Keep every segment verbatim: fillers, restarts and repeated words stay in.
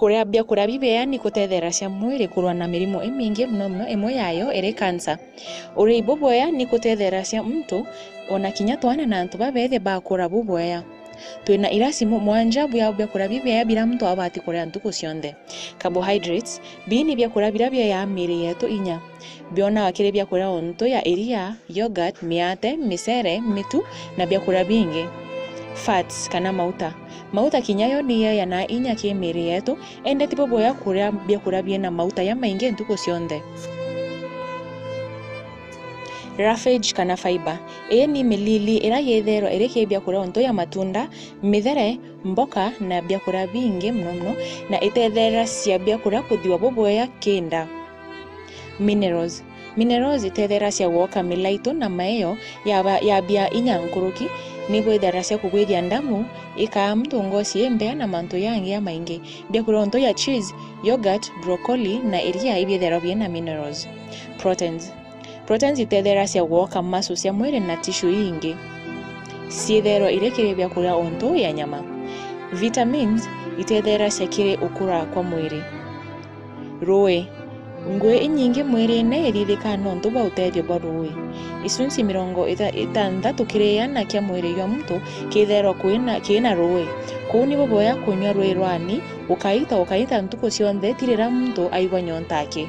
Kuria biakuria bibeea ni kutetheeracia mwiri kurua na mirimu imingi, mono mono imwe yayo iri kansa. Urii bubwea ni kutetheeracia muntu, ona kinya twana na antu babeethe bakura bubwea. Twina irasimu mwanja bia biakuria bibeea biria muntu abati kuria ntuku cionthe. Carbohydrates, bii ni biakuria biria biheaa miiri yetu inya. Bionaga kiri biakuria o ntu ya iria, yogurt, miate, micere, mitu, na biakuria bingi. Fats kana mauta. Mauta kinya yo ni yeeanaa inya ki miiri yetu, indi ti bubwea kuria biakuria biina mauta jamaingi ntuku cionthe. Roughage kana fiber. Ii ni milili iria yithairwa iri ki biakuria o ntu ya matunda, mithere, mboka na biakuria bingi mono mono, na itetheeracia biakuria kuthiwa bubwea ki nda. Minerals. Minerals itetheeracia gwoka milaitu na maeo yaba-, yabia inya nkuruki, ni bwithairacia kugwithia ndamu, ikaa muntu ngoci imbea na mantu yangi jamaingi. Biakuria o ntu ya cheese, yogurt, broccoli na iria ibiithairwa biina minerals. Proteins. Proteins itetheeracia gwoka muscles cia mwiri na tissue iingi. Ciithairwa iri kiri biakuria o ntu ya nyama. Vitamins itetheeracia kiri ukura kwa mwiri. Ruui. Ngui inyingi mwirine ithithikaa nontu bwa utethio bwa ruui. Icunci mirongo itha-, itantatu kiri iana kia mwiri jwa muntu kiithairwa kwina, kiina ruui. Kuu ni bubwea kunywa ruui rwani, ukaita, ukaita ntuku cionthe, ti riria muntu aigua nyonta aki.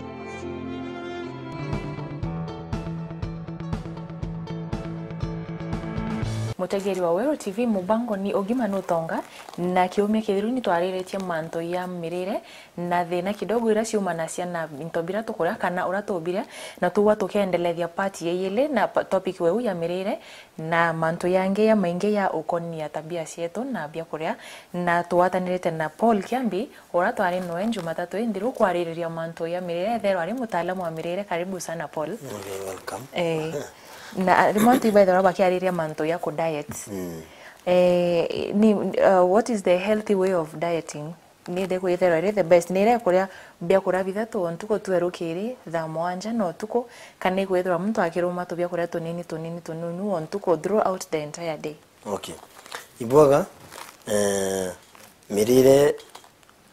Mutegeri wa Weru T V, mubango ni Ugima Nutonga, na kiumia kithiru ni twariritie mantu ya mirire na thina kidogo iria ciumanacia na into biria tukuria kana uria tubiria, na tugwa tukiendelethia part ya iili na pa-, topic weu ya mirire na mantu yangi ya maingi ya ukonia tabia cietu na biakuria, na tugwatanirite na Paul Kiambi, uria twari noe Jumatatu inthiru kwaririria mantu ya mirire, etherwa ari mutaalamu wa mirire. Karibu sana, Paul. Okay, welcome. Eh, na rimwe antu ibaithirwa bakiariria mantu ya ku diet. Mm. Eh, ni, uh, what is the healthy way of dieting? Ni iriku itherwa iri the best? Ni iria ikuria biakuria bithatu o ntuku, twe rukiri, thaa mwanja na utuku, kana ikwithirwa muntu akiruma tubiakuria tunini, tunini, tunini o ntuku throughout the entire day? Okay. Ibwaga, eh, mirire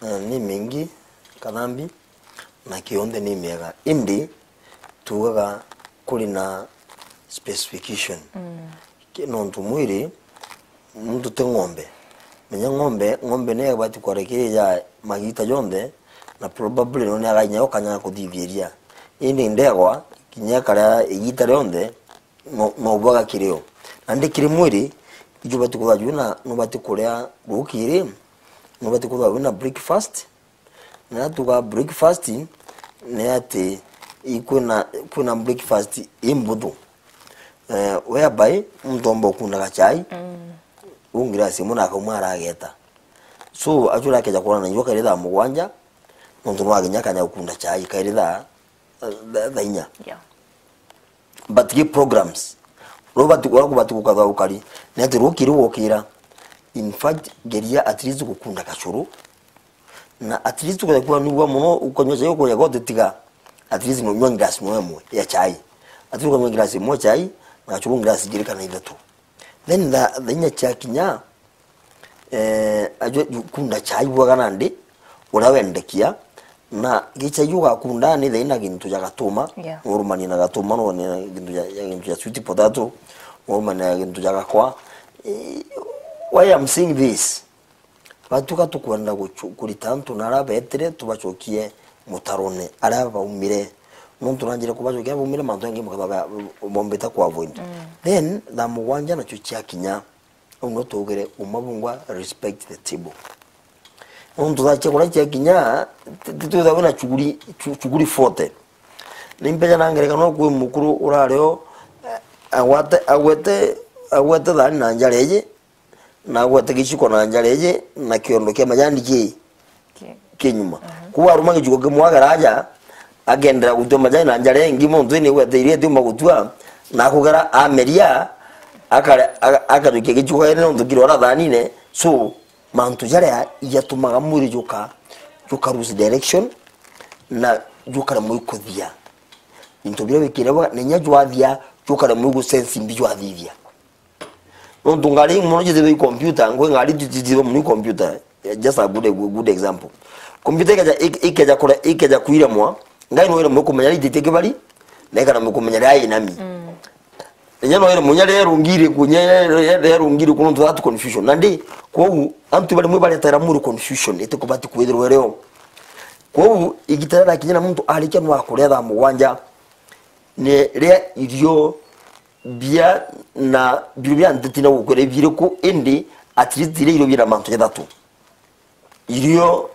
eh, ni mingi, kathambi, na kionthe ni miega. Indi, tuugaga kuri na specification. Mm. Ki-, nontu mwiri, muntu ti ng'ombe. Menya ng'ombe, ng'ombe ni ibati kwaria kiri ya magiita jonthe, na probably no ni againya ukanya kuthithia iria. Indi ndegwa, kinya ikaria igiita rionthe, no, no bwaga kiri yo. Nandi kiri mwiri, iju ubati kwithirwa wina, nubati kuria rukiri, nubati kwithirwa wina breakfast. Na tuga breakfast, ni ati i-, kwina, kwina breakfast imbuthu. Eh, whereby muntu omba ukunda gachai, mm, u ngirasi imwe na akauma arageta. So, actually akeja kwona na njua kairi thaa mugwanja, nontu nwaginya akanya gukunda chai kairi thaa, thaa, thaa inya. Yeah. But gi programs. Ro batu, ora kubati gukatha ukari. Ni ati rukiri wokira. In fact, geria at least gukunda kachuru. Na at least ukethekua nigua muno, ukanyua chai ukuya gote tiga. At least no nyua glass no emwe ya chai. At least ukanyua glass imwe chai, na kachuru glass igiri kana ithatu. Then tha, thaa inya cia kinya, eh, ajwe kunda chai bwaga nandi, uria wendekia, na gichai ugakunda ni thaina gintu ja gatuma, yeah, urumanie na gatuma, no ne gintu ja, ja gintu ja sweet potato, urumanie na gintu ja gakwa. Eh, why I'm saying this? Batuka tukwenda guchu-, kurita antu na aria betire tubachokie mutarone aria baumire. Nontu nanjire kubachokia baumire mantu engi mukaba ba-, bombite ku avoid. Mm. Then, thaa mugwanja nacio cia kinya, Au no tugire uma bungwa respect the table. Nontu thaa cia kuria cia kinya, ti, ti twithagwa na chuguri, chu-, chuguri forty. Ni mbeca na ngerekano kwi mukuru urario, eh, agwate, agwete, agwete thani na njara iji, na agwete giciko na njara iji, na kiondo kia majani ki, ki-, kinyuma. Mhm. Kuu aruma giciko kimwe agera aja, agendera gutua majani na njara ingi, muntu ni gwete iria atiuma gutua, na akugera ameria, akare-, aka-, akajukia giciko gere nontu kiri ora thanine. So, mantu jaria jatumaga mwiri juka, juka lose direction, na jukaremwa ikuthia. Into biria wikire bwa, na inya jwathia, jukaremwa igu sense mbi jwathithia. Nontu ngari mono jithirwe i computer, ngwe ngari jithirwe mono i computer. Eh, just a good, good example. Computer ikeja, ik-, ikeja kure-, ikeja kwiremwa, ngai no iremwe kumenya ria ititie kibari, na ikana kumenya ria inami. Mm. Inya no iremwe inya ria rungi iriku, inya ria, ria, ria rungi iriku, nontu that confusion. Nandi, kwou, antu barimwe baretera muri confusion, iti kubati kwithirwa irio. Kwou, igita riria rakinya na muntu arikia no akuria thaa mugwanja, ni ria irio bia na biro bia nteti na gukwira biriku, indi at least iria irio bina mantu jathatu. Irio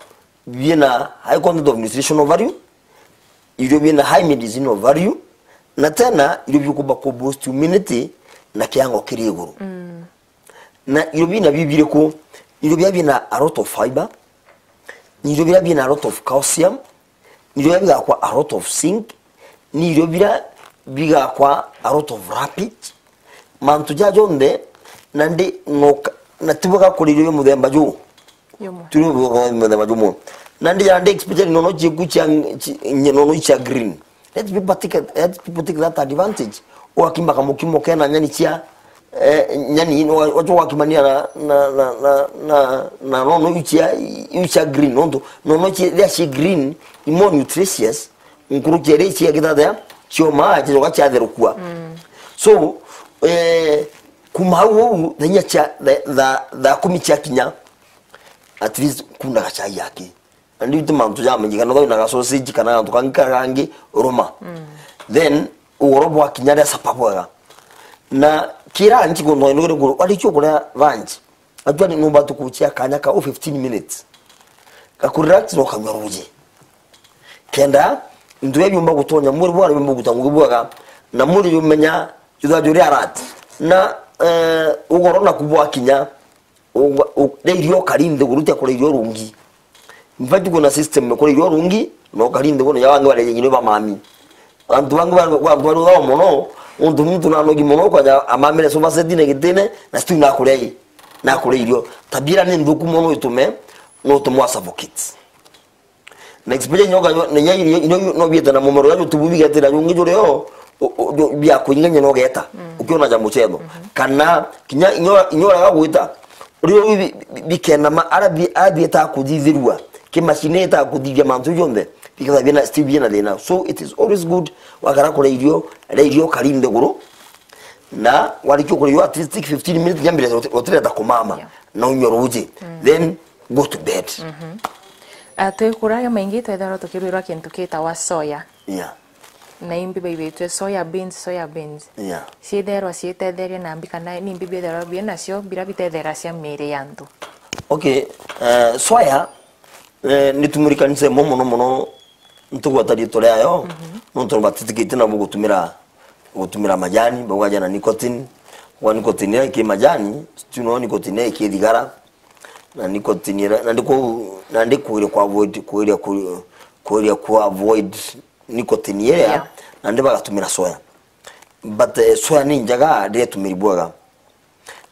bina high content of nutritional value, irio bina high medicinal value, na tena irio biukumba ku boost immunity na kiango kiri iguru. Mm. Na irio bina bibiriku? Irio bia bina a lot of fiber, ni irio bia bina a lot of calcium, ni irio bia bigakwa a lot of zinc, ni irio bia bigakwa a lot of rapid. Mantu ja jonthe, nandi noka-, na tibwega kuria irio bia muthemba juu. Jumwe. Turi bwega muthemba jumwe. Nandi ya ndi especially nono chiku chia, chi-, nye-, nono chia green. Let people take, let people take that advantage. Ugakima kamukimo kena nyani cia, eh, nyani, no, wacho wakimania na, na, na, na, na, na nono iu cia, iu cia green, nontu nono ici, ria ci green, i more nutritious, nkuruki iria ici agithathea, cioma, cicoka ciatherukua. Mm. So, eh, kuma hau uu, thaa inya cia, tha-, tha-, thaa kumi cia kinya, at least kuna gachai yake. Na riu ti mantu jamenyekana, thau na gasausage kana gantu kangi karia kangi ruma. Mm. Then, ugoro bwakinya ria sapa bwega. Na kira nchi kundu ino kiri kuru, warikia kuria lunch, actually, numbati kuchia kanya kau fifteen minutes. Gakurelax na ukanywa ruji. Kenda, ntu iria biumba gutonya mwiri bwara biumba guta ngugi bwega, na mwiri jumenya jutha juri alert. Na, eh, ugoro naku bwakinya, u-, u-, ria irio ukari nthiguru, tia kuria irio rungi. In fact, kuna system ya kuria irio rungi, na ukari nthiguru, na ya bangi baria nyinyi ba mami. Antu bangi ba, ba, ba, ba mono, untu muntu na nogi mono, kwaja amamire sofa set na gitine, na still na kuria i, na kuria irio. Tabia ni nthuku mono itume, no utume wa suffocate. Na exposure inyoka, na inya irio, ino no biete na mumero ya tubu bigetira jungi juri o, o, o, jo-, bia kuinganya no geta. Mm. Ukiona ja muchetho. Mhm. Kana, kinya inyo, inyo raga gwita. Rio bi, bi, bi, bikena ma, ara bi, ara bieta kuthithirua. Kimashini eta kuthithia mantu jonthe. Biketha bina, still bina thina. So it is always good, wakara kuria irio, ria irio kari nthiguru. Na warikia kuria irio at least fifteen minutes, nyambire uti-, utireta kumama. Yeah. Na unywe ruji. Mm. Then, go to bed. Mhm. Ah, twikuraga maingi twethagirwa tukirwirwa kintu kitagwa soya. Yeah. Na imbi baibitwe soya beans, soya beans. Yeah. Ciitherwa ciitetheria na mbi kana ni imbi bitherwa bie nacio bira bitetheracia miiri ya antu? Okay, eh, soya, eh, ni tumurikanise mo mono mono ntuku atari tore ayo, mhm, nontu batitikitie nabo gutumira, gutumira majani, baugaja na nicotine, wa nicotine ya iki majani, still no nicotine ya iki thigara, na nicotine ira, na ndiku, na ndikuire ku avoid, kuiria ku, kuiria ku avoid nicotine iria, yeah, na ndi bagatumira soya. But, eh, soya ni njega, ndiretumiri bwega.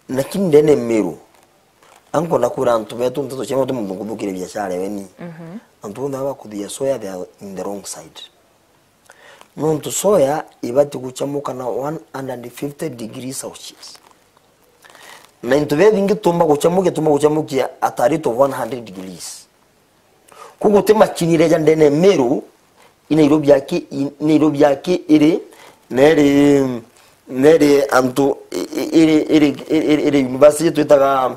Lakini ndene Meru, ankwenda kwira antu betu nteto cia matu muntu nkuthukiria biashara weni. Mhm. Antu bonthe baba kuthia soya, they are in the wrong side. Nontu soya ibati guchamuka na one hundred fifty degrees Celsius. Na into bia bingi tumba guchamukia, tumba guchamukia at a rate of one hundred degrees. Ku guti macini iria ja ndene Meru, i Nairobi aki, i Nairobi aki iri, na iri, na iri antu, i, i, iri, iri, iri, iri university twitaga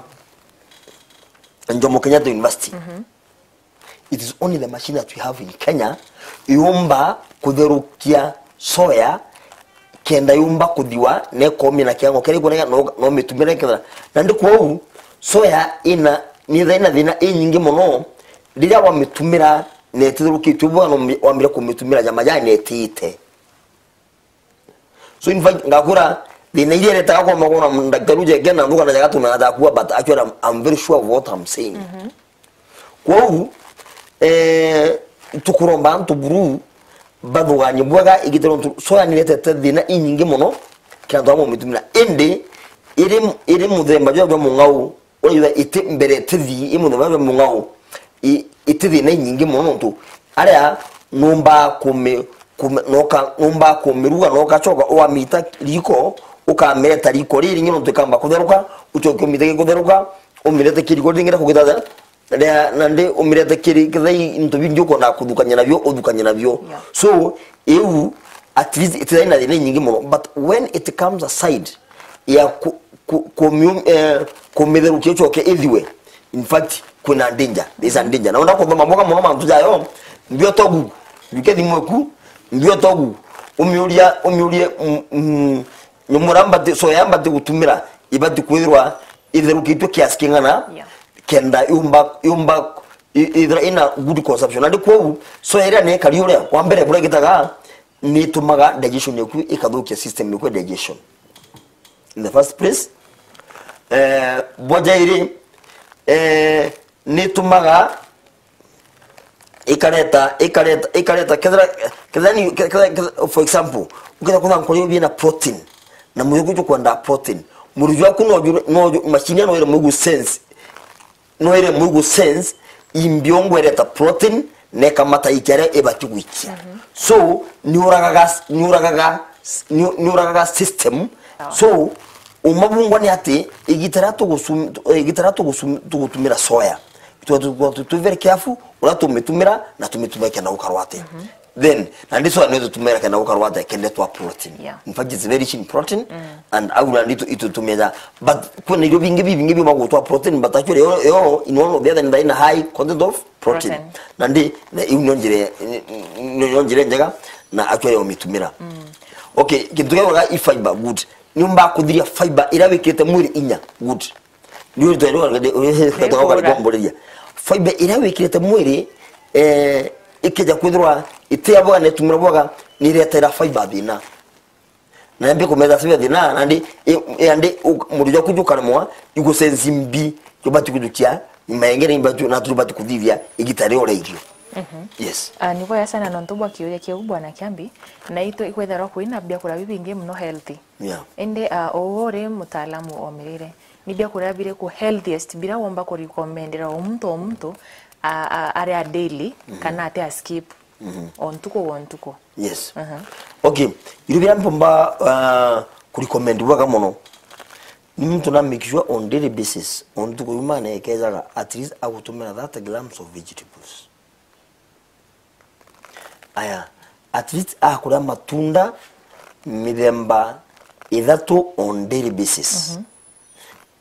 Jomo Kenyatta University. Mhm. It is only the machine that we have in Kenya yumba kutherukia soya kenda yumba kuthiwa, na ikomia na kiango kiria ikwoneka, no, no mitumire kethira. Na ndi kwou, soya ina, ni thaina thina inyingi mono, riria wamitumira na ititherukitue bwega, no mi-, wambire kumitumira ja majani na itiite. So in fact, ngakura, thina iria iretaga kwa magoro na daktari uje again, na nduka na jaga tuna na jakua, but actually I'm, I'm very sure of what I'm saying. Mhm. Kwou, eh, tukuromba antu buru bathuganie bwega igitiro ntu soya niretete thina inyingi mono kiri antu amwe mitumira. Indi iri, iri muthemba jwa, jwa mung'au, uria iti mbere itithi, i muthemba jwa mung'au, i, iti thina inyingi mono ntu aria numba kumi, kumi, noka, numba kumiruga, noka choka, wamita riko, ukamireta riko riri ringi nontu ikamba kutheruka, uchoke umite gikutheruka, umirete kiriko ringi na kugitha Ria, na ndi umirete kiri kithai into bingi ukwenda kuthukania nabio, uthukania nabio. Yeah. So, iu, at least, itithai na thina nyingi muno. But when it comes aside ya ku, ku, kumium-, eh, kumitherukia ucoke ithiwe, in fact, kwina danger. There is a danger. Na wenda kuthoma mboga muno mantu jayo, mbio togu, juke thimu eku, mbio togu, umiuria, umiurie, mm, mm, nyomora mbati, soya mbati gutumira, ibati kwithirwa itherukitwe kiasi king'ana, Yeah. kenda yumba, yumba i-, ithira ina good consumption. Na ndi kwou, soya iria ni ikari uria, wa mbere, buria igitaga, ni itumaga digestion yaku ikathukia system yaku ya digestion. In the first place, eh, bwa jairi, eh, ni itumaga ikareta, ikareta, ikareta, kethira, kethira ni, ke-, kethira, kethira, for example, ukethira kwina nkori bina protein, na mwiri jwaku jukwenda protein, mwiri jwaku no ju-, no ju-, machine no ire mwigu sense, no ire mwigu sense, imbio ngwereta protein, na ikamata ikia iria ibati gwikia. Mhm. So, ni uragaga, ni uragaga, ni, ni uragaga system. Sawa. So, umabungwa ni ati, igita ria tugusum-, igita ria tugusum-, tugutumira soya, Twe-, twe-, twe-, twe very careful uria tumitumira na tumitumira kenda gukarwa atia. Mhm. Then, na ndi soya ni tutumira kenda gukarwa atia, kenda twa protein. Yeah. In fact, it's very rich in protein, mm, and au na ndi tu-, itutumira. But kwina irio bingi bibingi biuma gutwa protein, but actually, yo, yo, in one or the other, ni high content of protein. Protein. Na ndi, na iu nio njira, nio njira njega, na actually umitumira. Mm. Okay, kintu kia i fiber, good. Ni umba kuthiria fiber iria wikirite mwiri inya, good. Ni uri twende uri, uri, uri, uri, uri, uri, fiber iria wikirite mwiri, eh, ikeja kwithirwa iti ya bwaga, netumira bwaga, ni iretera fiber thina. Na mbi kumeza fiber thina, na ndi, i, i, andi, u-, mwiri jwaku jukaremwa, igusensi mbi, jubati kujukia, nyuma yengere, na tubati kuthithia, igita ria uria irio. Mhm. Yes. Ah, ni bwega sana nontu bwa kiuria kiu, Bwana Kiambi, na itu ikwethirwa kwina biakura bibingi muno healthy. Yeah. Indi, ah, uu uri mutaalamu o mirire, ni biakuria biriku healthiest biria womba kurecommendera o muntu o muntu, ah, ah, aria daily, mhm, kana ati a skip, mhm, o ntuku o ntuku? Yes. Aha. Okay, irio biria mpomba, ah, kurecommend bwega muno, ni muntu na make sure on daily basis, o ntuku yuma na ekejaga, at least agutumira thirty grams of vegetables. Aya, at least akuria matunda mithemba ithatu on daily basis. Mhm.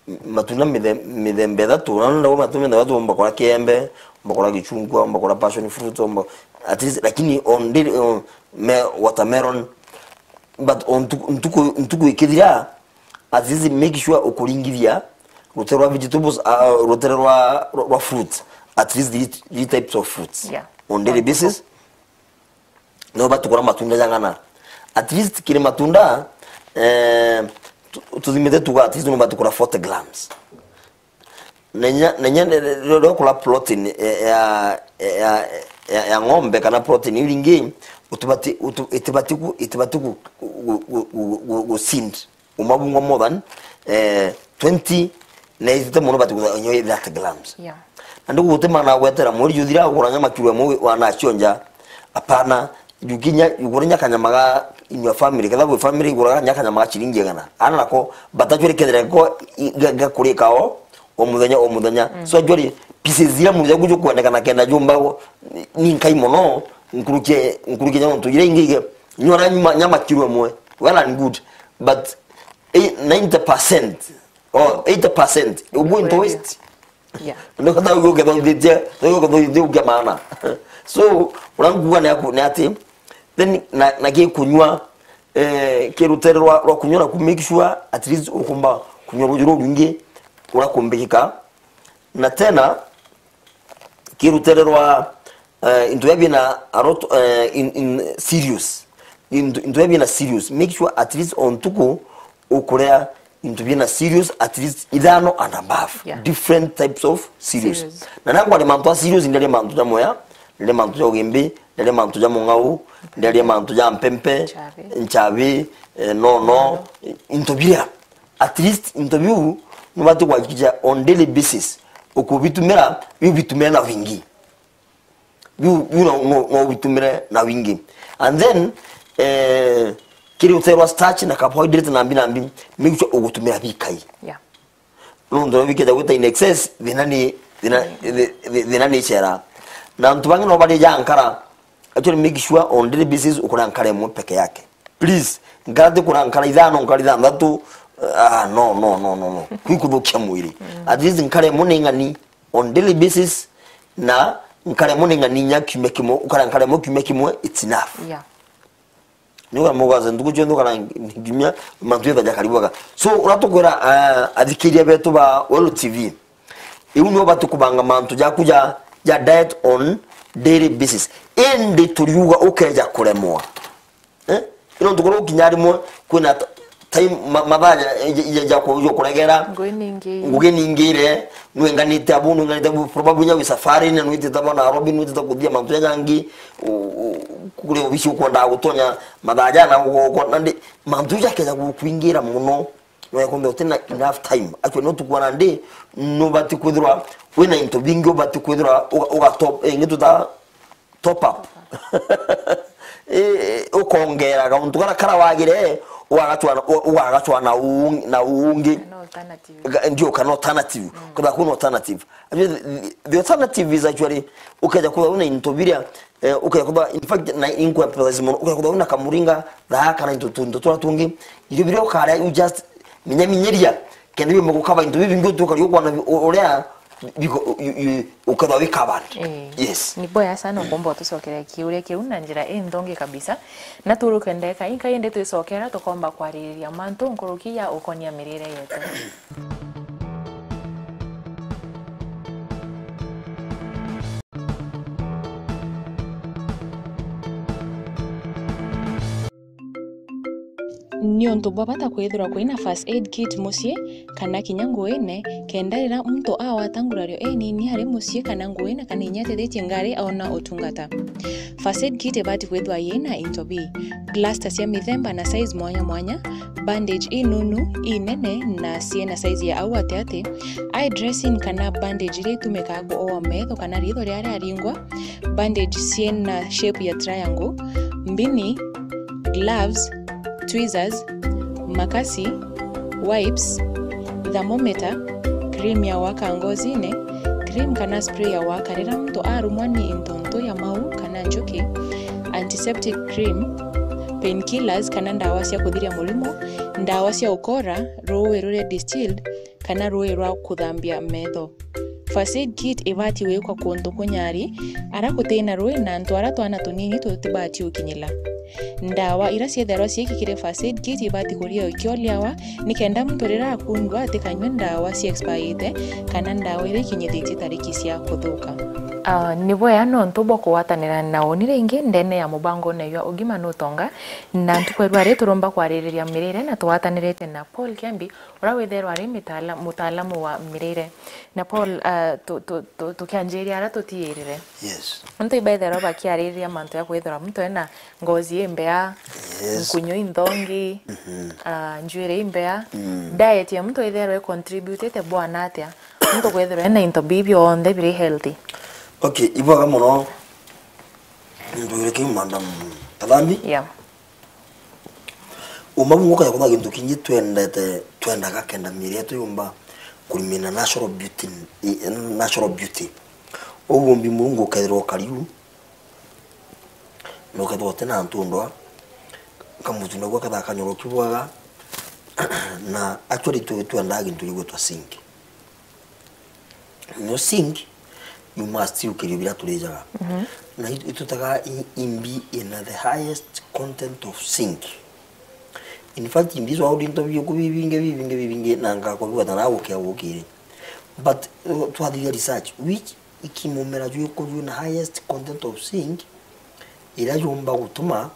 M-, matunda mithe-, mithemba ithatu, na nenda matunda mithemba ithatu, omba kura kiembe, omba kura gichungwa, omba kura passion fruit, omba, at least, lakini on daily, uh, me-, watermelon, but on ntuku, ntuku, ntuku ikithira, at least make sure ukuringithia rutere rwa vegetables, uh, rutere rwa, rwa, rwa fruits, at least three, three types of fruits, yeah, on daily basis. No bati kura matunda jang'ana. At least kiri matunda, eh, tu-, tuthimite tuga at least no bati kura forty grams. Nenya, nenya, riria ukura protein, eh, ya, ya, ya, ya ng'ombe kana protein iu ringi, utibati, utu-, itibati ku, itibati ku, ku, ku, ku, ku, ku, ku seed. Umabungwa more than, eh, twenty, na itite muno bati kutha nyo thirty grams. Yeah. Na ndi gutima na gwetera mweri juthira ugura nyama kilo imwe wana chionja. Apana, jukinya, ugure nya kanyama ga in your family, ketha gwi family iguraga nya kanyama ga chiringi igana. Ana nako, but actually kethira ko i-, ga-, gakurika o, o muthenya, o muthenya. Mm. So actually, pieces iria mwiri jwaku jukwendekana kenda jumba ni nkai muno, nkurukie, nkurukie nya ntu iria ingi ige, nyora nyuma, nyama kilo imwe. Well and good. But eh, ninety percent or eighty percent ugu into waste. Yeah. Ndio kata ugu ketho ndije, ndio ketho ndije ugia maana. So, uranguga ni aku, ni ati, then na, na gikunywa, eh, kirutere rwa, rwa kunywa na ku make sure at least ukumba kunywa ruju rwingi urakumbikika. Na tena, kirutere rwa, eh, into biria bina a lot, eh, in, in cereals. Into, into biria bina cereals. Make sure at least o ntuku ukuria into bina cereals at least ithano and above. Yeah. Different types of cereals. Cereals. Na nangwa ni mantu a cereals, ndaria mantu ja moya, ndaria mantu ja ugimbi, ndaria mantu ja mung'au, ndaria mantu ja mpempe, nchabi, nchabi, eh, nono, nono, into biria. At least into biu nubati kuhakikisha on daily basis ukubitumira, biu bitumire na wingi. Biu, biu no, no, no ubitumire na wingi. And then, eh, kiri uterwa starch na carbohydrate na mbi na mbi, make sure ugutumira bikai. Yeah. Nontu bikeja gwita in excess, thina ni Thina, thi-, thi-, thina ni icera. Na antu bangi no bari ja nkara. Actually, make sure on daily basis ukura nkara imwe peke yake. Please, nkara ti kura nkara ithano, nkara ithanthatu. Ah, no, no, no, no, no. Kwi kuthukia mwiri. At least nkara imwe ni ng'ani on daily basis, na nkara imwe ni ng'ani nya kiumia kimwe, ukara nkara imwe kiumia kimwe, it's enough. Yeah. Ni ugara mugaze ntuku cionthe ukara ngimia mantu jetha jakari bwega. So, uria tukwira, ah, athikiria betu ba Welu T V, iu ni ubati kubanga mantu jaku ja, ja diet on daily basis. Indi turiuga ukeja kuremwa. Eh? Ino ntuku ukinya rimwe kwina t-, time ma-, mathaa ja, ja, ja, ja ku-, ja kuregera. Ngugi ningire. Ngugi ningire, nwenganite abu, nwenganite abu, probably nya wi safari, na nwitite bo Nairobi, nwitite kuthia mantu jajangi, u-, u-, kuri obisi ukwenda gutonya mathaa jana, ugo-, ugo-, nandi, mantu jakeja gukwingira muno, no yakumbe utina enough time. Actually, no tukwana ndi, nubati kwithirwa wina into bingi, ubati kwithirwa uga-, uga top, eh, ngi tuta top up. Eh, ukongera kauntu kara, kara wagire, ugagacwa na, u-, ugagacwa na ung-, na ungi. An alternative. Ga-, ndio, kana alternative. Kwithirwa kwina alternative. Actually, the, the alternative is actually, ukeja kwithirwa wina into biria, eh, ukeja kwithirwa, in fact, na inkuemphasize mono, ukeja kwithirwa wina kamuringa, thaa kana into tu-, into turia tungi, irio biria ukaria, you just minyaminyiria, kenda biumba gukaba into bibingi utuka riu kwana bi-, u-, uria biko, you, you, ukethwa wi covered. Eh. Yes. Ni boya sana ukomba utucokeria kiuria kiu na njira inthongi kabisa. Na turuke ndeka inka indi twicokera tukomba kwaririria mantu nkuruki ya ukonia mirire yetu. Ni untu bwa bata kwithirwa kwina first aid kit mucii kana kinya nguine, kenda riria muntu agwata ngurario inini ari mucii kana nguine kana inya atithitie ngari aona utungata. First aid kit ibati kwithirwa yina into bii: plaster cia mithemba na size mwanya mwanya, bandage inunu, inene na ciina size ya au atiati, eye dressing kana bandage iria itumikaa kuoa metho kana ritho riria riaringwa, bandage ciina shape ya triangle, mbini, gloves, tweezers, makasi, wipes, thermometer, cream ya gwaka ngozine, cream kana spray ya gwaka riria muntu arumwa ni intuntu ya mau kana njuki, antiseptic cream, painkillers kana ndawa cia kuthiria murimo, ndawa cia ukora, ruui ruria distilled, kana ruui rwa kuthambia metho. First aid kit ibati gwikwa kuntu kunyari, ara gutina ruui na antu ara twana tunini tutibati gukinyila. Ndawa ira ciethairwa ciiki kiri first aid kit ibati kuria ikioliawa, nikenda muntu riria akundwa atikanywe ndawa cia expirite kana ndawa iria ikinyithitie tariki cia kuthuka. Ah, ni bwea nontu bwa kugwatanira na uni ringi ndene ya mubangone jwa ugima nutonga, na ntuku ya rua ri turomba kwaririria mirire na tugwatanirite na Paul Kiambi, uria withairwa ari mitaala-, mutaalamu wa mirire. Na Paul, ah, tu-, tu-, tu-, tukianjiria aria tutiirire. Yes. Antu ibaithairwa bakiaririria mantu ya kwithirwa muntu ena ngozi imbea, yes, nkunyu inthongi, mhm, ah, njuiri imbea. Mm. Diet ya muntu ithairwa icontributite bwana atia? Muntu kwithirwa ena into bii bionthe biri healthy. Okay, ibwega muno. Ntwire kiu, Madam Kathambi. Yeah. Uma bumwe ukaja kuthwa gintu kingi twendete, twendaga kenda miiri yetu yumba kurimina natural beauty, i-, natural beauty. Ugumbi Murungu ukethirwa ukariu, na ukethirwa utina ntu ndwa, kamutu naguo kethaa kanyoroki bwega, na actually tu-, twendaga gintu gigwitwa zinc. No zinc, you must still kirio biria turijaga. Mhm. Na it-, itutaga i-, imbi ina the highest content of zinc. In fact, imbi icio wauri into biuku bibingi, bibingi, bibingi, na ngakobigwata na gukia gukiri. But, uh, twathiria research, which ikimumera jwiku jwina highest content of zinc, iria yumba gutuma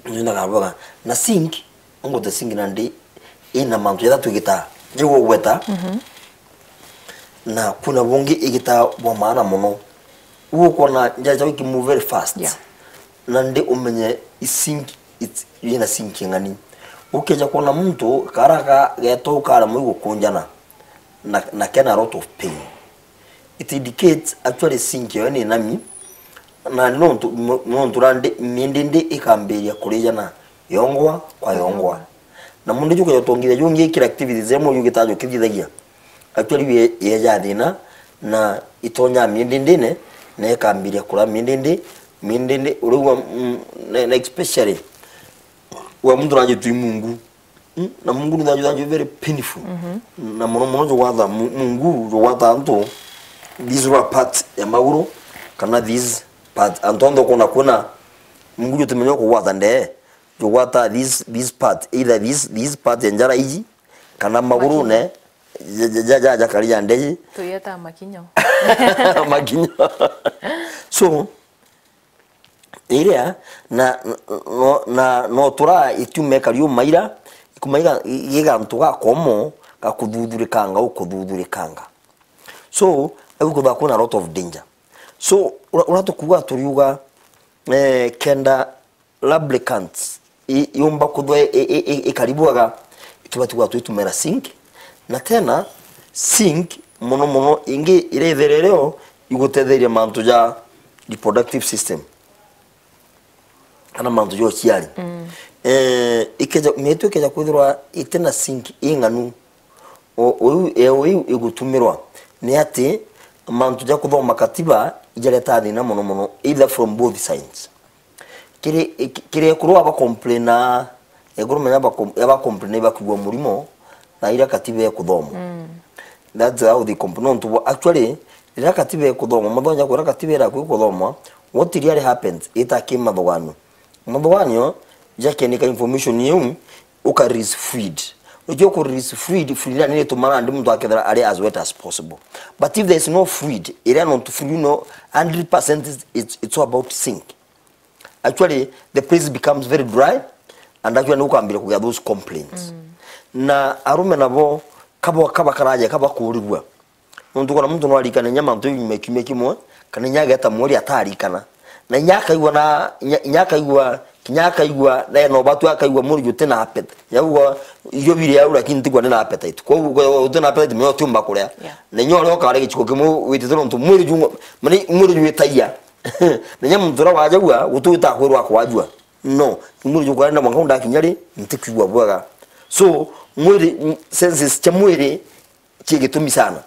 Nina kabwega. Na zinc, ngote zinc nandi ina mantu jathatu igita jigugweta. Mhm. Na kuna bungi igita bwa maana muno. Ugukwona njaja iki move very fast. Yeah. Nandi umenye i zinc, it's, ina zinc ing'ani. Ukeja kwona muntu karaka geto karemwa igukunjana na, na kena lot of pain. It indicates actually zinc yo ni nami, na ni nontu, nontu nandi mindindi ikambiria kurijana yongwa kwa yongwa. Na mundu juke jotongithia jungi kila activities imwe jugitajo kithithagia. Actually ye, yeja thina, na itonyaa miendindine, na ikambiria kuria miendindi, miendindi, urigwa, mm, na, na especially wa muntu najitwi Mungu. Mm, na Mungu ni thaju, thaju very painful. Na mono mono jugwatha Mu-, Mungu jugwatha antu, these were part ya maguru, kana these part, antu onthe ukona kwina Mungu jutimenya kugwata ndee, jugwata this, this part, either this, this part ya njara iji, kana maguru ne, ja, ja, ja, ja, jakari ja ndee. Tuyeta makinyo. Makinyo. So, iria, na, no, na, no tura ikiuma ikari umaira, ikumaiga gigantu gakomo, gakuthuthurikanga, ukuthuthurikanga. So, au kuthaa kwina a lot of danger. So, ura, ura tukuga turiuga, eh, kenda lubricants i, yumba kuthwa i, i, i, ikari bwega, itubati gwatwa itumira zinc. Na tena, zinc, mono mono, ingi iria itherereo igutetheria mantu ja reproductive system, kana mantu ja uciari. Eh, ikeja, mietu ikeja kwithirwa itina zinc ing'anu, o, o iu, e, o iu igutumirwa, ni ati mantu ja kuthoma katiba ijareta thina mono mono, either from both sides. Kiri, ki-, kiri ekuru aba complaina, ekuru menya aba com-, aba complaina ibakuigua murimo, na ira katiba ekuthomwa. That's how they complain. Nontu bo, actually, riria katiba ekuthomwa, muthonya kwira katiba iraku ikuthomwa, what really happens, ita ki mathuganio. Mathuganio, jakenika information iu, uka read fluid. Ukiu ku read fluid, fluid nani itumana ndi muntu akethira ari as wet as possible. But if there is no fluid, iria nontu fluid no hundred percent is, it's, it's all about zinc. Actually, the place becomes very dry, and actually, ni ukambiria kugia those complaints. Na arume nabo, kabo, kaba karaja, kaba kurigua. Nontu kwona muntu no arikane inya mantu jau nyuma ya kiumia kimwe, kana inya ageta mweri atarikana. Na inya akaigua na, inya, inya akaigua, kinya akaigua, na ena ubatu akaigua mwiri jutina appetite. Inya aigua irio biri au, lakini ntigua ndina appetite. Koguo, utina appetite, menya utiumba kuria. Yeah. Na inya uria ukaria giciko kimwe witite nontu mwiri ju, mani mwiri jwitagia. Na inya muntu uria wajagua, guti wita kwirwa akwajua. No, mwiri jukwenda mwanka ndakinya ri, ntikwigua bwega. So, mwiri, senses cia mwiri, ci gitumi sana.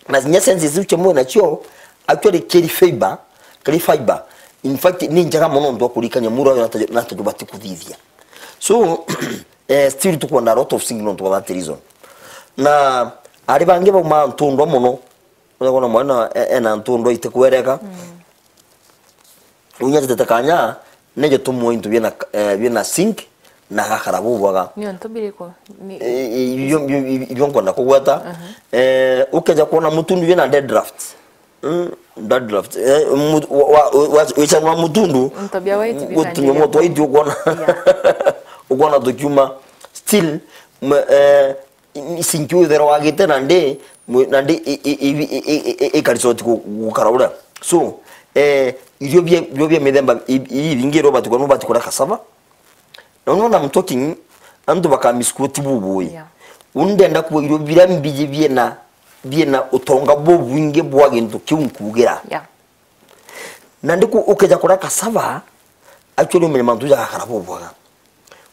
Na kinya senses iu cia mwiri nacio, actually, kiri fiber, kiri fiber, in fact, ni njega mono nontu wa kurikania mwiri wayo nata, nata jubati kuthithia. So, eh, still tukwenda a lot of things nontu wa that reason. Na ari bangi bauma ntundwa mono, uria kwona mwana e-, ena ntundwa itikwereka. Unya jitete kanya, nejo tumwe into biena, eh, biena zinc, na gakara bubwaga. Ni untu biriku? Ni- Eh, eh, ibio, ibio, ibio nkwenda kugweta. Eh, ukeja kwona mutundu wina dandruff. Mm, dandruff. Eh, mu-, wa, wa, wa, wichanwa mutundu. Ntabia wa iti gutunywa bikandire. Moto wa iti ukona. Yeah. Ukona tukiuma. Still, m-, eh, zinc utherwa wagite na ndi, mwe-, na ndi i, i, i, i, i, i, ikarisoti gu-, gukara uria. So, eh, irio bia, irio bia mithemba i, i, ibingi irio ubati kuria, nubati kuria cassava. Na unaona I'm talking, antu bakamisquoti bubui. Yeah. Uni ndenda kuuga irio biria mbiji biena, biena utonga bubwingi bwa gintu kiu nkuugira. Yeah. Na ndiku ukeja kuria cassava, actually umenye mantu jagakara bubwaga.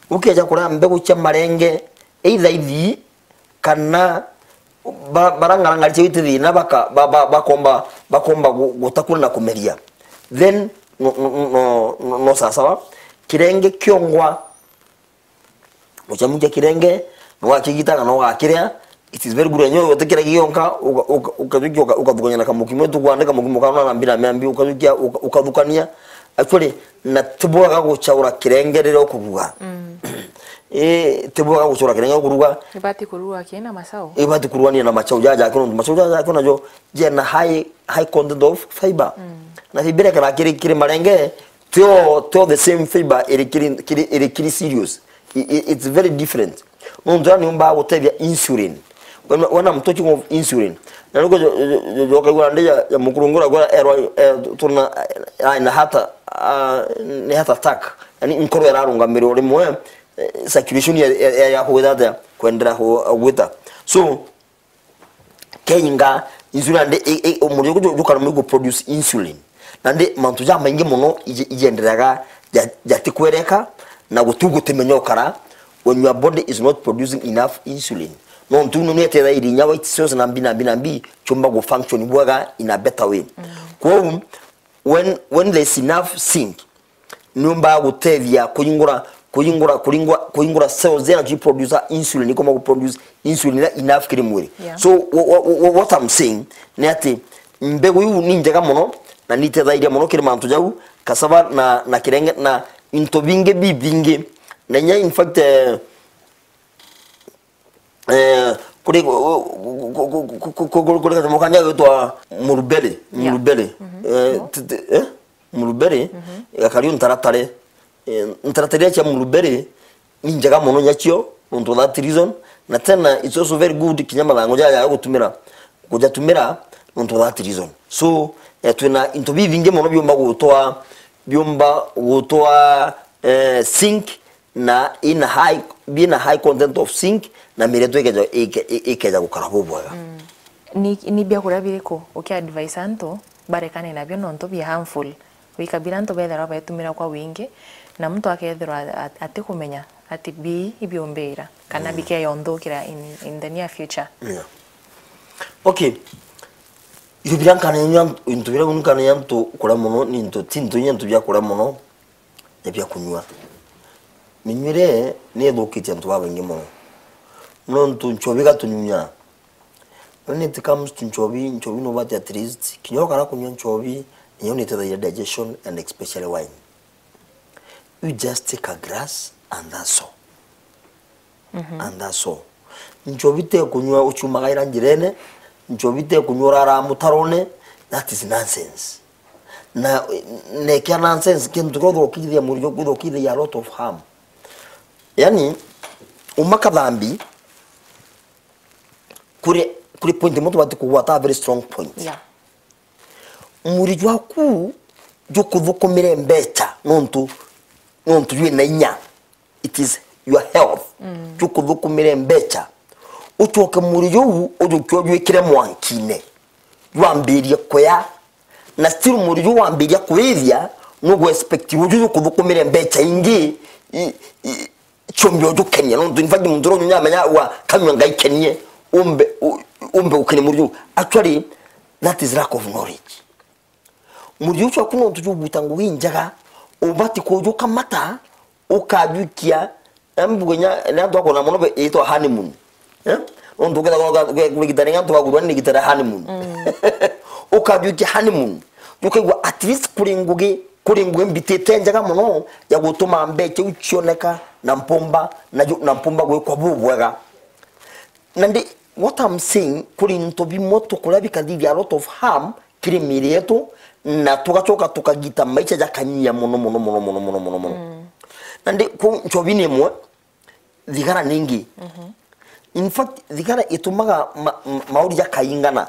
Ukeja kuria mbegu cia marenge, either ithii, kana ba-, bara ngarangari cia iti thina baka-, ba-, ba-, bakomba, bakomba gu-, gutakua na kumeria. Then, no, no, no sawa sawa. Kirenge kiongwa, uchamukia kirenge, no wakigita kana ugakiria, it is very good. Enyewe utikira gionka, uka-, uka-, ukajukia uka-, ukathukania na kamukimo, tukwandika mukimo kana na mbira miambi, ukajukia uka-, ukathukania. Actually, na tibwaga guchaura kirenge riria ukuruga. Mm. Eh, tibwaga guchaura kirenge ukuruga. Ibati kuruga kina macau. Ibati kuruga ni na macau jaja kino, macau jaja kino jo jena high, high content of fiber. Mm. Na fiber kana kiri, kiri marenge, tio, tio the same fiber iri kiri, kiri, iri kiri cereals. I, i, it's very different. Nontu ni umba gutethia insulin. When, when I'm talking of insulin, na nuko jo, jo, jo, jo, kaigua ndi ya, ya mukurungura kwa erwa, eh, tuna, eh, na heart, ah, ni heart attack. Yani nkoro irarungamirwa rimwe, eh, circulation ya, ya, ya, ya kugwita atia? Kwendera ku-, kugwita. So, keinga insulin, nandi i, i, mwiri juku ju-, jukara mwiri gu produce insulin. Nandi mantu jamaingi mono iji-, ijiendereaga ja-, jatikwereka, na gutu gutimenya ukara when your body is not producing enough insulin. Nontu ino ni etethairie inya white cells na mbi na mbi na mbi ciumba gu function bwega in a better way. Kwou, when, when there is enough zinc, niumbaga gutethia kuingura, kuingura, kuingura, kuingura cells iria nacio iproduce insulin, ikoma guproduce insulin iria enough kiri mwiri. Yeah. So, wha-, wha-, wha-, what I'm saying ni ati mbegu iu ni njega mono na ni itethairia mono kiri mantu jau, cassava na, na kirenge na into bingi bibingi. Na inya, in fact, eh, eh, kuri, ku-, ku-, kuri kanyamo kangĩ gagwitwa mulberry, yeah, mulberry. Eh, t-, t-, eh? Mulberry, gakari ntaratare. Eh, ntaratare cia mulberry ni njega mono nyacio, nontu of that reason. Na tena, it's also very good kinya mathango jaya ya gutumira, kujatumira, nontu of that reason. So, eh, twina into bibingi mono biumba gutwa, biumba gutwa, eh, zinc, na in high, being a high content of zinc, na miri yetu ikeja, ike-, i-, ikeja gukara bubwega. Mm. Ni, ni biakuria biriku ukiadvise antu barekane nabio nontu bia harmful? Wikabira antu bethirwa betumira kwa wingi, na muntu akethirwa at-, atikumenya ati bii ibiumbira, kana, mm, bikeyonthuukira in, in the near future. Yeah. Okay. Into biria nkanenya, into biria nkanenya antu kuria mono, ni into, ti into inya into bia kuria mono, ni bia kunyua. Minyuire ni ithukitie antu babaingi mono. Nontu nchobi igatunyunya. When it comes to nchobi, nchobi no but at least, kinya ukara kunyua nchobi, niyo ni itethagia digestion and especially wine. You just take a glass and that's all. And that's all. Nchobi te kunyua uciumagaira njirene, nchobi te kunyua urara mutarone, that is nonsense. Na, na kia nonsense, kintu kia uthukithia mwiri jwaku, uthukithagia a lot of harm. Yani, uma kathambi, kuri, kuri point imwe tubati kugwata a very strong point. Yeah. Mwiri jwaku jukuthukumire mbecha nontu, nontu jwina inya. It is your health. Mm. Jukuthukumire mbecha. Ucoke mwiri juu ujukie ujwikire mwankine. Jwambirie kuya. Na still mwiri juu wambiria kuithia, nugu expect uju jukuthukumire mbecha ingi, i, i, ciumbe ujukenia. Nontu in fact muntu uria unyunya amenya wa kanyua ngai kenie, umbe, u-, umbe gukenia mwiri juu. Actually, that is lack of knowledge. Mwiri ucio waku nontu juguta ngugi injega, ubati kujukamata, ukajwikia, embu kinya, ni antu akona mono be-, itwa honeymoon. Eh? Nontu ukethagwa uga-, uge-, kurigitania antu bagurwa ni rigitania honeymoon. Mm. Ukajwikia honeymoon. Ukaigua at least kuri ngugi, kuri ngugi mbitite njega mono ya gutuma mbecha iu cioneka na mpumba, na ju-, na mpumba gwikwa bubwega. Na ndi, what I'm saying, kuri into bimwe tukuria bikathithia a lot of harm, kiri miiri yetu, na tugacoka tukagita maisha jakanyia mono, mono, mono. Mm. Na ndi, ku nchobi ni imwe, thigara ni ingi. Mhm. In fact, thigara itumaga ma-, ma-, mauri jakaingana.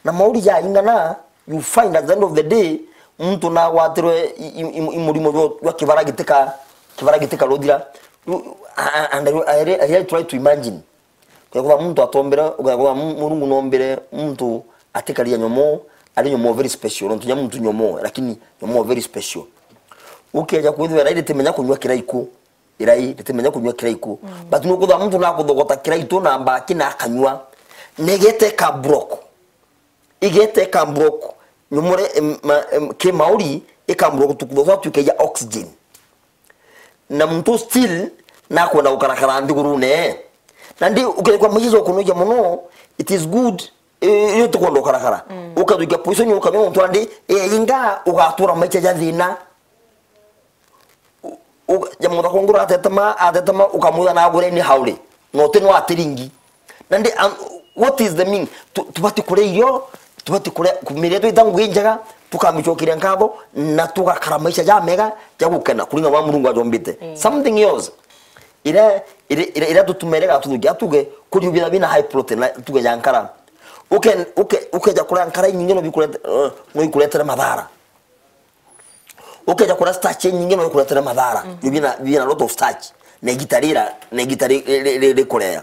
Na mauri jaingana, you find at the end of the day, muntu nagwatirwe i-, i-, i-, i murimo jwa, jwa kibara gitika, kibara gitika ruthira. You, a-, a-, and I, I, I really try to imagine. Ukethirwa muntu atombire, ukethirwa mu-, Murungu nombire muntu atikaria nyomo, ari nyomo very special, nontu nya muntu nyomo, lakini nyomo very special. Ukeja kwithirwa irai ritimenya kunyua kiraiku, irai ritimenya kunyua kiraiku. Mm. But nukwithirwa muntu nakuthogota kiraitu na mbaki na akanyua, na igeta ika block. Igeta ika block. Nyomore, em, ma-, em, ki mauri, ika block tukuthogota twikaija oxygen. Na muntu still nakwenda gukarakara nthigurune. Na ndi ukethirwa maisha jokunogia mono, it is good, eh, iyo tukwenda gukarakara. Mm. Ukathukia position ukanyua muntu andi, eh, inga ugatura maisha ja thina. U-, u-, ja mutha kungura atetema, atetema ukamwira na agure ni hauri. No ti no atiringi. Na ndi, um, what is the mean? Tu-, tubati kuria irio, tubati kuria, kumiria twita ngugi njega, tukamicokeria nkatho, na tugakara maisha jamega ja gukena, kuringana na Murungu ajombite. Mm. Something else. Ira, ira, ira, ira tutumere gatuthukia tuge, kuri bira bina high protein, na tuge ja nkara. Uke, uke, ukeja kuria nkara inyingi no bikurete-, eh, no ikuretere mathara. Ukeja kuria starch inyingi no ikuretera mathara. Mhm. Bina, bina lot of starch. Na igita rira, na igita ri-, ri-, ri-, ri-, rikurea.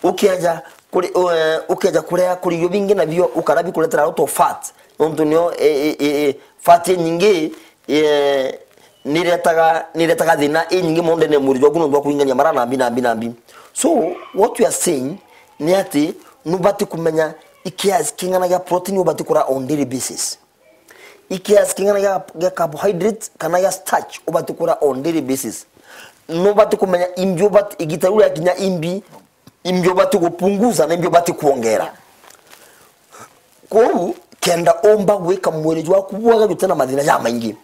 Ukeja kuri, eh, ukeja kurea kuri irio bingi nabio ukara bikuretera lot of fat. Nontu nio, eh, eh, eh, eh, fat inyingi, eh, niretaga, niretaga thina inyingi mono ndene ya mwiri jwaku nontu bwa kuringania mara nambi, nambi, nambi. So, what we are saying, ni ati nubati kumenya ikiasi king'ana gia protein ubati kuria on daily basis, ikiasi king'ana gia, gia carbohydrates kana gia starch ubati kuria on daily basis. Nubati kumenya imbi ubati, igita riu riakinya imbi, imbi ubati gupunguza na imbi ubati kuongera. Yeah. Kwou kenda umba gwika mwiri jwaku bwega jutina mathina jamaingi.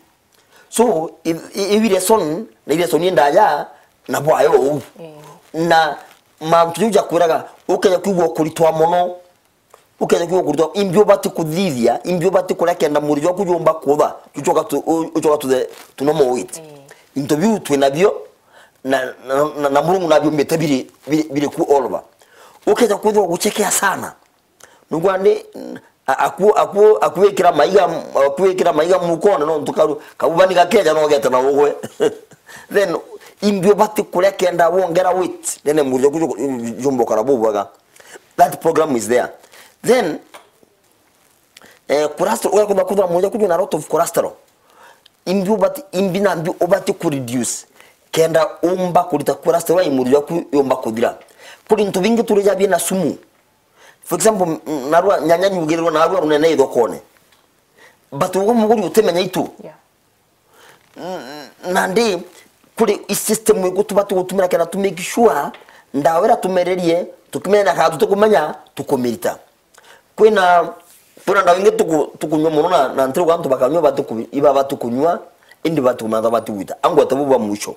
So i- i- iu lesson na i lesson indaja na bwayo uu. Mm. Na mantu jau jakwiraga ukeja kwigua ukuritwa mono, ukeja kwigua ukuritwa, imbi ubati kuthithia, imbi ubati kuria kenda mwiri jwaku jumba kutha, jucoka tu- u- ucoka to the to normal weight. Mm. Into biu twinabio na, na, na, na Murungu nabiumbite biri, biri, biri ku all over. Ukeja kwithirwa guchekea sana. Nugwa ndi, a- aku aku akuikira maiga, akuikira maiga mukone, no ntu karu kabuba ni gakeja no gete na ugwe. Then imbi ubati kuria kenda wongera weight, then mwiri jwaku jumba ukara bubwega. That program is there. Then eh, cholesterol, ugakwenda kwithira mwiri jwaku jwina lot of cholesterol. Imbi ubati, imbi na mbi ubati ku reduce kenda umba kurita cholesterol ai mwiri jwaku yumba kuthira. Kuri into bingi turi ja bina sumu. For example, m- narua nyanya nyugirirwe narua runene ithokone. But ugo muguri utimenya itu. Yeah. N- nandi kuri i system igu tubati gutumira kenda tu make sure ndawa ira tumererie tukimenya na kana tutikumenya tukumirita. Kwina kwina ndawa ingi tuku- tukunywa mono na na ntiruga antu bakanywa batiku- ibaba tukunywa indi batikumenya bati gwita. Angwete bubu bwa mwisho.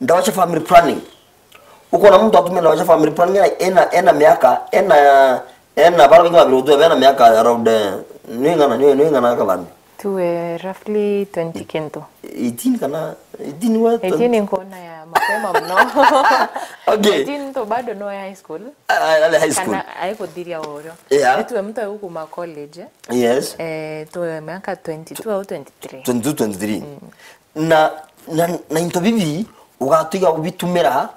Ndawa cia family planning. Ukona muntu atumia ndawa cia family planning ena ena ena miaka ena ena bara bingi babiri utu ena miaka around eh, ni ngana ni ni ngana kabambi. Tuwe roughly twenty kintu. Eighteen kana eighteen wa eighteen nkuona ya mapema mno. Okay. Eighteen to bado no ya high school. Ah, ah, high school. Kana aikuthiria urio. Yeah. Nituwe mtu aigukuma college. Yes. Eh, tuwe miaka twenty-two au twenty-three. Twenty-two, twenty-three. Mm. Na na na into bibi ugatiga ubitumira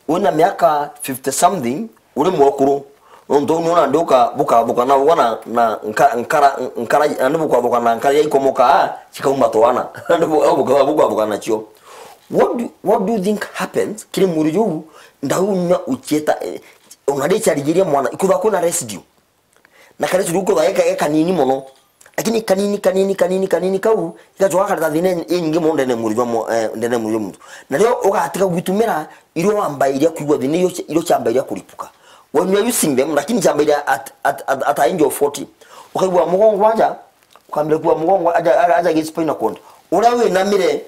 wina miaka fifty something uri mwakuru. Nontu niona ndi uka bukathuka na ugwa na na nka- nkara nkara andi bukathuka na nkara ya ikomoka cikauma twana andi bukathuka nacio. What do, what do you think happens kiri mwiri juu ndaunywa uchieta eh, ona ndi charigiria mwana ikutha kuna residue. Na kari turi kutha eka eka nini mono. Lakini kanini kanini kanini kanini kau igacoka kareta thina inyingi mono ndene mwiri jwa mo- eh, ndene mwiri jwa muntu. Na rio ugatiga gwitumira irio wambairia kuigua thina irio irio ciambairia kuripuka. When you are using them lakini ciambairia at at at, at a age of forty. Ukaigua mugongo aja ukambira kuwa mugongo aja aja gi spinal cord. Uria winamire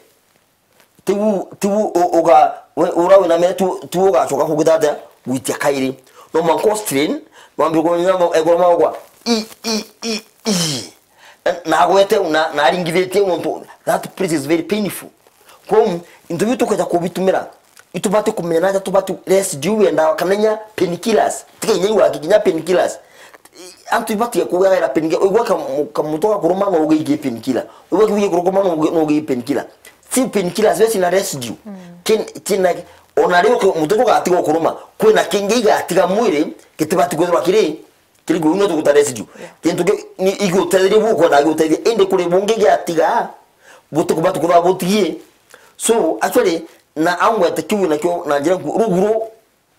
Tiu tiu uga ura wina mire tu tu ugacoka kugita atia gwitia kairi. No mwanka strain wambe kunyama egoro magwa i i i i na agwete na na aringithitie muntu that place is very painful. Kwa into biu tukwenda kubitumira itubati kumenya na tubati rest juu ya ndawa kana nya painkillers tika inya iwa kinya painkillers antu ibatie kugaira painkillers igwa kamutoka kuruma no ugeige painkiller igwa kiuge kuruma no ugeige painkiller Si painkillers we cina residue. Kin cina ona ri mutu tugatiga ukuruma kwina kingi igatiga mwiri gitibati kwithirwa kiri kiri gwe no tuguta residue. Kintu ki ni igutetheria bu kwenda gutetheria indi kuri bungi giatiga buti kubati kuthwa butigie. So actually na angwete kiu nakio na njira ruguru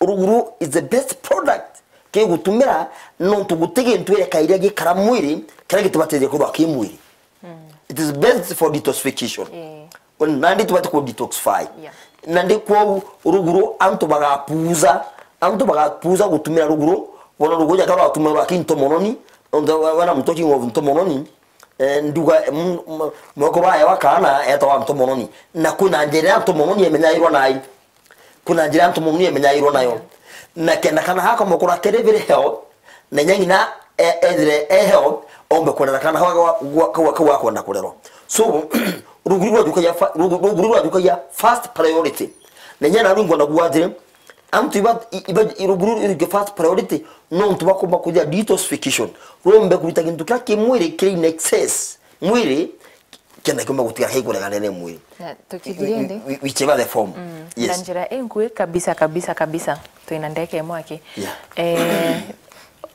Ruguru is the best product kigutumira nontu guti gintu ireka iria gikara mwiri kiria gitubateithia kuthwa ki mwiri. It is best for detoxification. Nandi tubati ku detoxify. Nandi kwou ruguru antu bagapuza antu bagapuza gutumira ruguru bona ruguru jakara watumira rwa kinto mononi nontu wana mutoki of nto mononi. Eh, nduga moko bayo akana etawa nto mononi na kwina njira ya nto mononi emenyairwa nayo. Kuna njira ntu mumni emenyairwo nayo na kenda kana hako mukura kere very health na nyang'ina ethire e health ombe kwenera kana hawa kwa kwa kwenda kurerwa. So ruguru rwa jukagia ruguru rwa jukagia first priority na nyana rungo na guatire antu iba iba ruguru rwa first priority no ntu bakomba kuja detoxification rombe kurita kintu kia kimwiri kiri in excess mwiri kenda kiumba gutigara gikureganene mwiri. Na tukithiria indi whichever the form. Mm. Yes. Na njira inkui kabisa kabisa kabisa twina ndeke imwe aki. Yeah. Eh,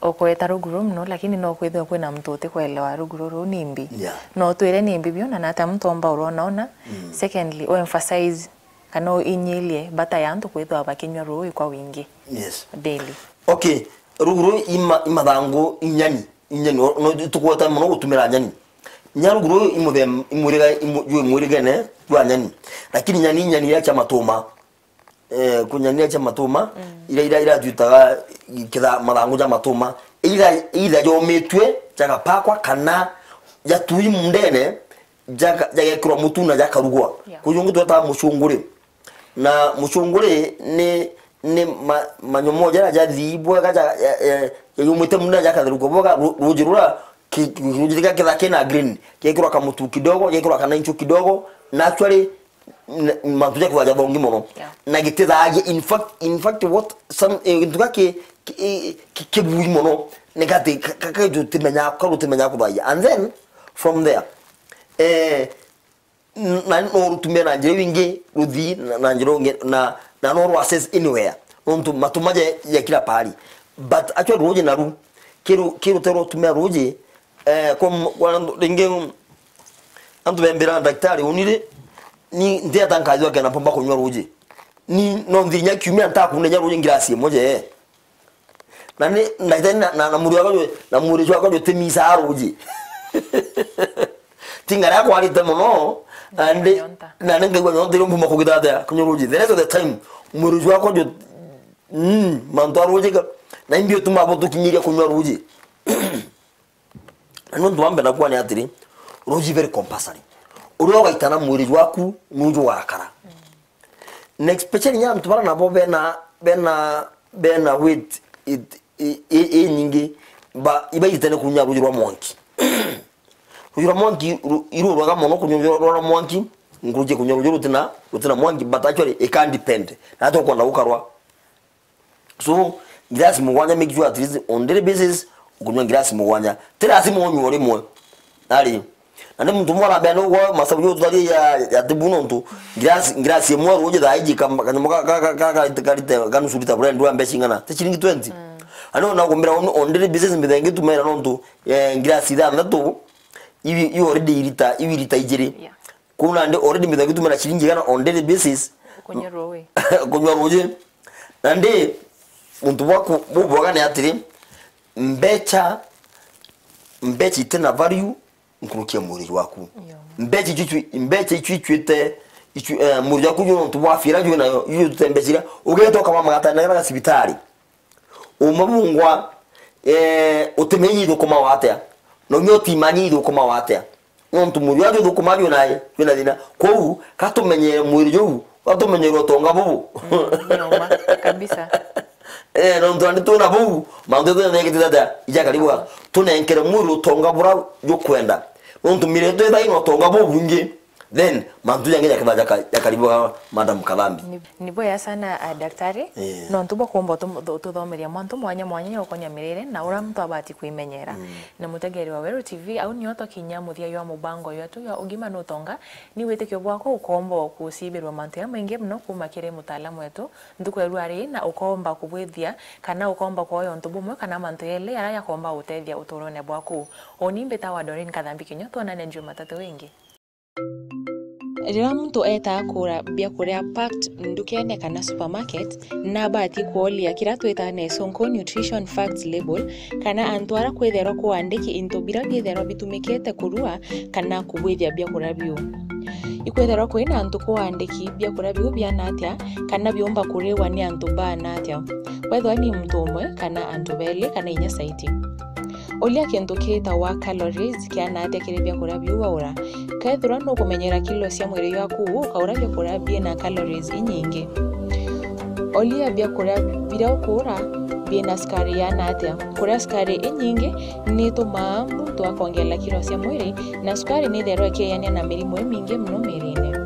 ukweta ruguru muno lakini no kwithirwa kwina muntu utikwelewa ruguru ruu ni mbi. Yeah. No twire ni mbi biu na nata muntu omba urona ona. Mm. Secondly, u emphasize Kana inyilie mbata ya antu kwithwa bakinywa ruui kwa wingi. Yes. Daily. Okay, rugu ruu ima, imathangu inyani, inyani, no, no, tukweta mono gutumira nyani. Nya rugu ruu imuthem-, imwiriga, imu-, jwi mwirigene jwa nyani. Lakini nyani, nyani iria cia matuma. Eh, kunyania cia matuma, mm, iria, iria iratuitaga kitha-, mathangu ja matuma, either, either jomitue, jagapakwa, kana jatui mundene, jaga-, jagekirwa mutu na jakarugwa. Yeah. Kuu jungi twetaga mucunguri. Na mucunguri ni, ni ma-, manyomo jaria jathii bwega, ja-, ja-, ja-, jayumite mundene jakatherukua bwega, ru-, ruji rura ki-, ki-, ruji rika kitha kina green, gekirwa kamutu kidogo, gekirwa kanainchu kidogo, naturally, n-, mantu ja kwithwa jathongi mono. Yeah. Na gitithagia, in fact, in fact, what some, eh, gintu gaki ki-, eh, ki-, kibui mono, ni gati ka-, ka-, ka-, tutimenya, ka rutimenya kuthagia. And then, from there, eh, n-, na no rutume na njira iu ingi, ruthii na, na njira ungi, na, na no rwa access anywhere. Nontu matuma je, je kila pahali. But actually, ruji naru, kiru, kiru te rutumira ruji, eh, kwa m-, kwa ringi, Antu bembira, "Daktari, uni ri, ni ntiata nkathua kena mpomba kunywa ruji? Ni no nthi inya kiumia ntakunenya ruji ngirasi imwe je." Na ni, daktari, na, na, na mwiri wakwa jwe, na mwiri jwakwa jwe timisaa ruji. Ti ngari yakwarite mono, na ndi, nyonta, na ni ngaigua nyonta irio mpumba kugita atia kunywa ruji. The rest of the time, mwiri jwakwa jwe, mm, mantu a ruji ka, na imbi utuma butukinyiria kunywa ruji. Na ni untu wa mbere nakuga ni atiri, ruji very compulsory. Uria ugaitana mwiri jwaku nuju warakara. Na especially nya antu bara nabo bena, bena, bena weight it, i, i, i nyingi, ba, ibaitane kunya ruji rwa mwanki. Ruji rwa mwanki ru-, irurwaga mono kunywa ruji rwa mwanki, nkuruki kunywa ruji rutina, rutina mwanki, but actually it can depend. Na tukwenda gukarwa. So, ngirasi mugwanja, make sure at least on daily basis, ukunywa ngirasi mugwanja. Ti lazima unywe o rimwe. Ari. Na ni muntu umwe arambia, "Ni ugwa masabu yo tutari ya, ya tibu nontu ngirasi, ngirasi imwe ruji thaa iji kam-, kanyamo ka, ka, ka, ka, ka, karite, ka nusu lita brand wa mbeca ing'ana? Ti ciringi twenty?" Mm. Ani ona kumbira on, on daily basis mbitha ngitumira nontu, eh, ngirasi ithanthatu, iu, iu already irita, iu irita ijiri. Yeah. Kuu nandi already mbitha ngitumira ciringi igana on daily basis. Kunywa ruji. Kunywa ruji. Nandi, untu bwaku bubwega ni atiri, mbeca, mbeca itina value nkuruki ya mwiri jwaku. Yo. Mbeca icio, icio, mbeca icio icuite, icu-, eh, mwiri jwaku juu nontu bwa fira juu nayo, juu tute mbeca iria, ugeta ukama magata na cibitari. Uma bungwa, eh, utimenyi ithukuma watia? Na umia utimanya ithukuma watia? Nontu mwiri jwaku juthukuma jwina, jwina thina. Kwou, ka tumenyere mwiri juu, ka tumenyere utonga bubu. Mm, ni uma, kabisa. Eh, nontu nandi twina buu, mantu jathengete atia? Ijakari bwega. Tunenkere mwiri utonga bura jukwenda. Nontu miri yetu ithai na utonga bubwingi. Then, mantu jangi jakethira jaka-, jakari bwega, Madam Kathambi. Ni, ni bwega sana, ah, daktari. Eh. Nontu bwa kuumba utu-, utu-, ututhomeria mantu mwanya mwanya ya ukonia mirire na uria muntu abati kwimenyera. Mm. Na mutegeri wa Weru T V, au nio twakinya muthia jwa mubango jwetu jwa ugima na utonga. Ni witikio bwakwa ukomba kucibirwa mantu jamaingi mono kuuma kiri mutaalamu wetu ntuku ya rua ri, na ukomba kubwithia kana ukomba kwoya untu bumwe kana mantu jeli jaria jakomba gutethia uturone bwaku. Uni mbitawa Doreen Kathambi Kinyo, twonane Jumatatu ingi. Riria muntu etaa kugura biakuria packed ndukene kana supermarket, nabati kwolia kiria twitaga na icunku nutrition facts label, kana antu aria kwithairwa kuandiki into biria biithairwa bitumikite kurua kana kubwithia biakuria biu. Ikwithairwa kwina antu kuandiki biakuria biu biana atia, kana biumba kuriwa ni antu baana atia. Wethwa ni muntu umwe, kana antu beli, kana inya saiti. Uria kintu kitawa calories kiana atia kiri biakuria biu waura. Kethirwa nukumenyera kilo cia mwiri jwaku, ukaura biakuria biina calories inyingi. Uria biakuria biria ukuura biina sukari iana atia. Kuria sukari inyingi nitumaa muntu akongerera kilo cia mwiri, na sukari nithairwa ikieyania na mirimu imingi mono mirine.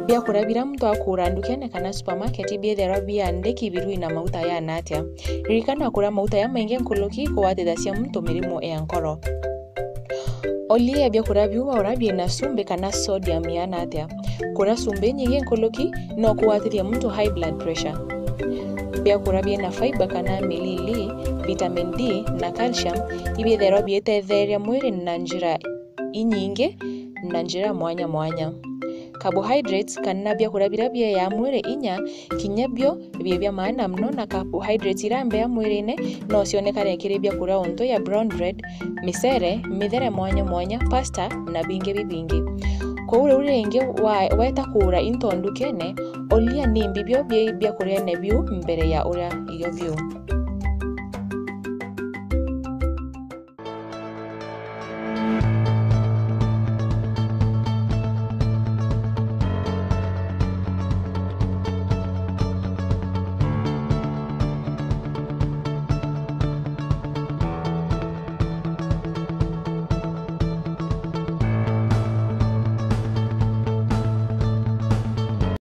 Biakuria biria muntu akuura ndukene kana supermarket biithairwa biandiki birui na mauta yaana atia. Ririkana kuria mauta jamaingi nkuruki kugwatithagia muntu mirimu ya nkoro. Uria biakuria biu waura biina cumbi kana sodium iana atia. Kuria cumbi inyingi nkuruki no kugwatithie muntu high blood pressure. Biakuria biina fiber kana milili, vitamin D na calcium ibiithairwa biitetheria mwiri na njira inyingi na njira mwanya mwanya. Carbohydrates kana biakuria biria bieyaa mwiri inya, kinya bio bii bia maana mono, na carbohydrates iria mbea mwirine no cionekane kiri biakuria untu ya brown bread, micere, mithere mwanya mwanya, pasta na bingi bibingi. Kwou riu ringi wa-, weta kuura into ndukene, uria nimbi bio bii biakuriene biu mbere ya uria irio biu.